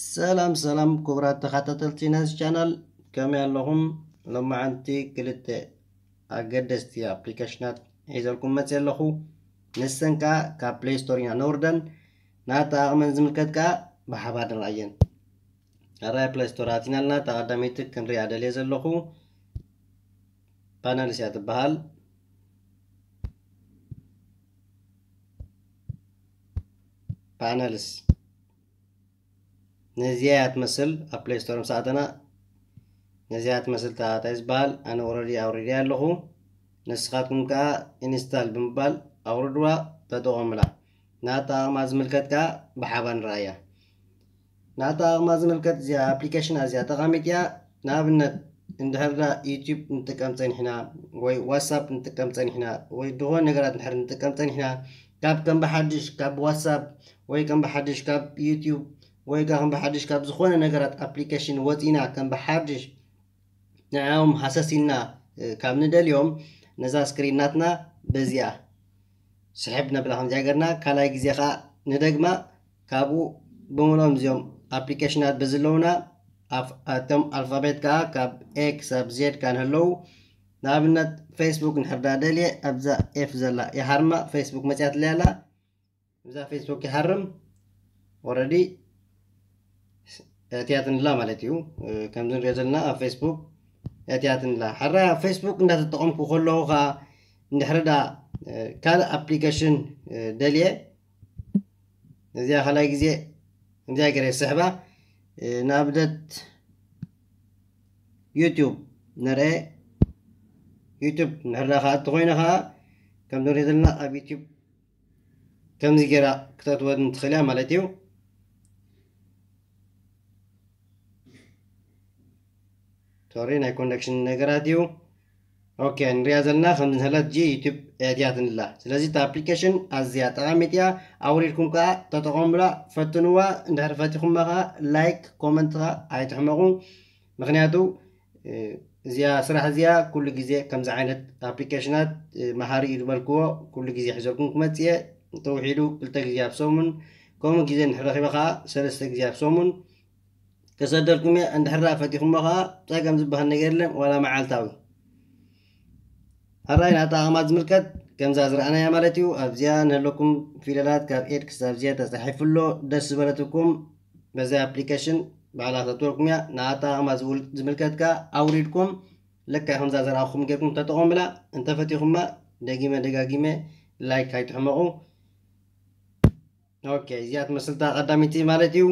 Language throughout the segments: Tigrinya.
ሰላም ሰላም ክቡራት ተኸታተልቲ ናይዚ ቻናል፣ ከመይ ኣለኹም? ሎማዓንቲ ክልተ ኣገደስቲ ኣፕሊኬሽናት ሒዘልኩም መፅእ ኣለኹ። ንሰን ከዓ ካብ ፕሌይ ስቶር ኢና ነውርደን፣ ናታ ኣቕመን ዝምልከት ከዓ ብሓባር ንርኣየን። ኣራይ ፕሌይ ስቶር ኣቲናልና፣ እታ ቀዳመይቲ ክንሪኣ ደልየ ዘለኹ ፓነልስ እያ ትበሃል። ፓነልስ ነዚኣ እያ ትመስል። ኣብ ፕሌይ ስቶር ምስ ኣተና ነዚኣ ትመስል ታታይ ዝበሃል ኣነ ኦረዲ ኣውሪደ ኣለኹ። ንስኻትኩም ከዓ ኢንስታል ብምባል ኣውርድዋ፣ ተጠቐሙላ። ናታ ኣቕማ ዝምልከት ከዓ ብሓባር ንረኣያ። ናታ ኣቕማ ዝምልከት እዚኣ ኣፕሊኬሽን ኣዝያ ጠቓሚት እያ። ንኣብነት እንድሕር ዳ ዩቲዩብ ንጥቀም ፀኒሕና ወይ ዋትሳፕ ንጥቀም ፀኒሕና ወይ ዝኾነ ነገራት እንድሕር ንጥቀም ፀኒሕና ካብ ከም ብሓድሽ ካብ ዋትሳፕ ወይ ከም ብሓድሽ ካብ ዩቲዩብ ወይ ከዓ ከም ብሓድሽ ካብ ዝኾነ ነገራት ኣፕሊኬሽን ወፂና ከም ብሓድሽ ንዕኦም ሃሰስ ኢልና ካብ ንደልዮም ነዛ ስክሪን ናትና በዚኣ ስሕብ ነብላ ከምዚኣ ገርና ካልኣይ ግዜ ከዓ ንደግማ ካብኡ ብምሎም እዚኦም ኣፕሊኬሽናት በዝለውና ኣቶም ኣልፋቤት ከዓ ካብ ኤ ክሳብ ዜድ ካ ንህለዉ ንኣብነት ፌስቡክ ንሕርዳ ደልየ ኣብዛ ኤፍ ዘላ ይሃርማ ፌስቡክ መፅያትለይ ኣላ እዛ ፌስቡክ ይሃርም ኦረዲ እትያትንላ ማለት እዩ ከምዚ ንሪኦ ዘለና ኣብ ፌስቡክ እትያትንላ ሓራ ፌስቡክ እንዳተጠቐምኩ ከለኹ ከዓ እንድሕርዳ ካልእ ኣፕሊኬሽን ደልየ እዚኣ ካልኣይ ግዜ እዚኣ ገረ ስሕባ ንኣብነት ዩቱብ ንርአ ዩቱብ ንሕርዳ ከዓ እትኮይነ ከዓ ከም ንሪኦ ዘለና ኣብ ዩቱብ ከምዚ ገይራ ክተእትወኒ ትኽእል እያ ማለት እዩ ሶሪ ናይ ኮኔክሽን ነገራት እዩ ኦኬ ንሪኣ ዘለና ከም ዝንህለት ጂ ዩቱብ እያትንላ ስለዚ እቲ ኣፕሊኬሽን ኣዝያ ጠቓሚት እያ ኣውሪድኩም ከዓ ተጠቐሙላ ፈትንዋ እንድሕር ፈቲኹማ ከዓ ላይክ ኮመንት ከዓ ኣይትሕመቑ ምክንያቱ እዚኣ ስራሕ እዚኣ ኩሉ ግዜ ከምዚ ዓይነት ኣፕሊኬሽናት መሃሪ እዩ ዝበልክዎ ኩሉ ግዜ ሒዘልኩም ክመፅእ እየ እንተውሒዱ ክልተ ግዜ ኣብ ሰሙን ከምኡ ግዜ እንድሕር ረኺበ ከዓ ሰለስተ ግዜ ኣብ ሰሙን ከሰደልኩም እየ እንድሕር ደኣ ፈቲኹሞ ከዓ ፀገም ዝበሃል ነገር የለን ዋላ መዓልታዊ ሕራይ ናታ ኣቕማጥ ዝምልከት ከምዛ ዝረኣናያ ማለት እዩ ኣብዚኣ ንህለኩም ፊደላት ካብ ኤድ ክሳብ ዚያ ተፃሒፉ ኣሎ ደስ ዝበለትኩም በዚ ኣፕሊኬሽን ባዕላ ተትወልኩም እያ ንኣታ ኣቕማጥ ዝምልከት ከዓ ኣውሪድኩም ልክዕ ከምዛ ዘረኣኹም ጌርኩም ተጠቐሙላ እንተፈቲኹማ ደጊመ ደጋጊመ ላይክ ኣይትሕመቑ ኦኬ እዚኣ ትመስልታ ቀዳሚቲ ማለት እዩ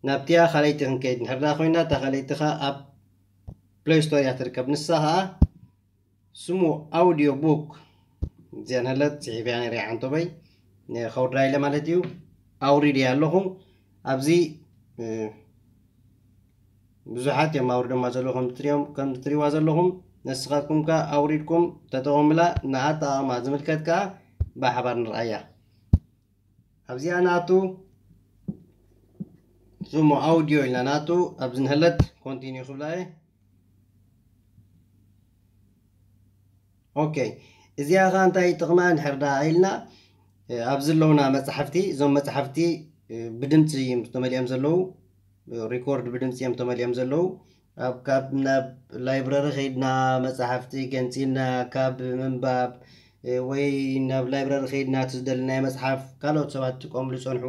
ናብቲያ ካልኣይቲ ክንከይድ ንሕርዳ ኮይና እታ ካልኣይትኻ ኣብ ፕሌይ ስቶር እያ ትርከብ ንሳ ከዓ ስሙ ኣውዲዮ ቡክ እዚኣ ንህለት ፅሒፍያ ነሪያ ዓንቶበይ ከውድራ ኢለ ማለት እዩ ኣውሪድ እያ ኣለኹ ኣብዚ ብዙሓት እዮም ኣውርዶማ ዘለዉ ከም ትሪእዋ ዘለኹም ንስኻትኩም ከ ኣውሪድኩም ተጠቐሙላ ንኣጠቓቕማ ዝምልከት ከኣ ብሓባር ንርኣያ ኣብዚኣ ናቱ ሱሙ ኣውድዮ ኢልና ናቱ ኣብዚ ንህለት ኮንቲኒ ክብላ እየ ኦኬ እዚኣ ኸ እንታይ ጥቕማ እንድሕር ደኣ ኢልና ኣብዚ ኣለውና መፅሓፍቲ እዞም መፅሓፍቲ ብድምፂ እዮም ተመሊኦም ዘለዉ ሪኮርድ ብድምፂ እዮም ተመሊኦም ዘለዉ ኣብ ካብ ናብ ላይብረሪ ከይድና መፅሓፍቲ ገንፂልና ካብ ምንባብ ወይ ናብ ላይብረሪ ከይድና እቲ ዝደለናዮ መፅሓፍ ካልኦት ሰባት ጥቀምሉ ይፀንሑ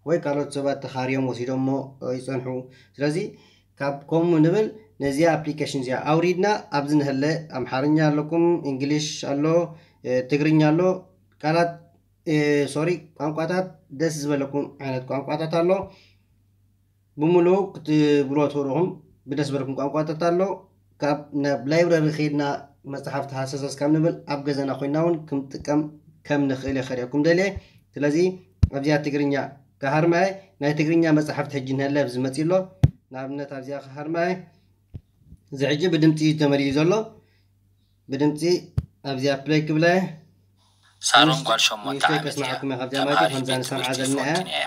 ወይ ካልኦት ሰባት ተኻርዮም ወሲዶሞ ይፀንሑ ስለዚ ካብ ከምኡ ንብል ነዚኣ ኣፕሊኬሽን እዚኣ ኣውሪድና ኣብዚ ንህለ ኣምሓርኛ ኣለኩም እንግሊሽ ኣሎ ትግርኛ ኣሎ ቃላት ሶሪ ቋንቋታት ደስ ዝበለኩም ዓይነት ቋንቋታት ኣሎ ብምሉኡ ክትብልዎ ትኽእልኹም ብደስ ዝበለኩም ቋንቋታት ኣሎ ካብ ናብ ላይብረሪ ከይድና መፅሓፍቲ ሃሰሰስ ካብ ንብል ኣብ ገዛና ኮይና እውን ክንጥቀም ከም ንኽእል የኸሪአኩም ደልየ ስለዚ ኣብዚኣ ትግርኛ ክሃርማየ ናይ ትግርኛ መፅሓፍቲ ሕጂ ንህለ ኣብዚ መፂ ኣሎ ንኣብነት ኣብዚኣ ክሃርማየ እዚ ሕጂ ብድምፂ እዩ ተመሊኡ ዘሎ ብድምፂ ኣብዚኣ ፕለይ ክብለ ሳሮን ጓል ሸሞንተ ዓመት እያ ተማሪት ዩኒቨርሲቲ ፎንቲን እያ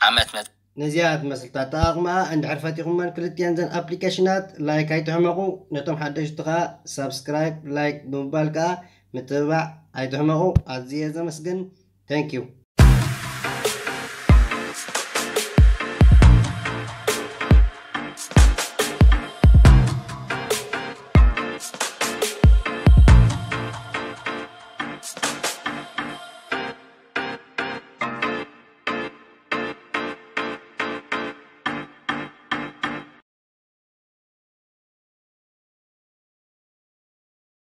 ዓመት መ ነዚኣ ትመስልታ ኣጠቓቕማኣ እንድሕር ፈቲኹመን ክልቲአን ዘን ኣፕሊኬሽናት ላይክ ኣይትሕመቑ ነቶም ሓደሽቲ ከዓ ሳብስክራይብ ላይክ ብምባል ከዓ ምትብባዕ ኣይትሕመቑ ኣዝየ ዘመስግን thank you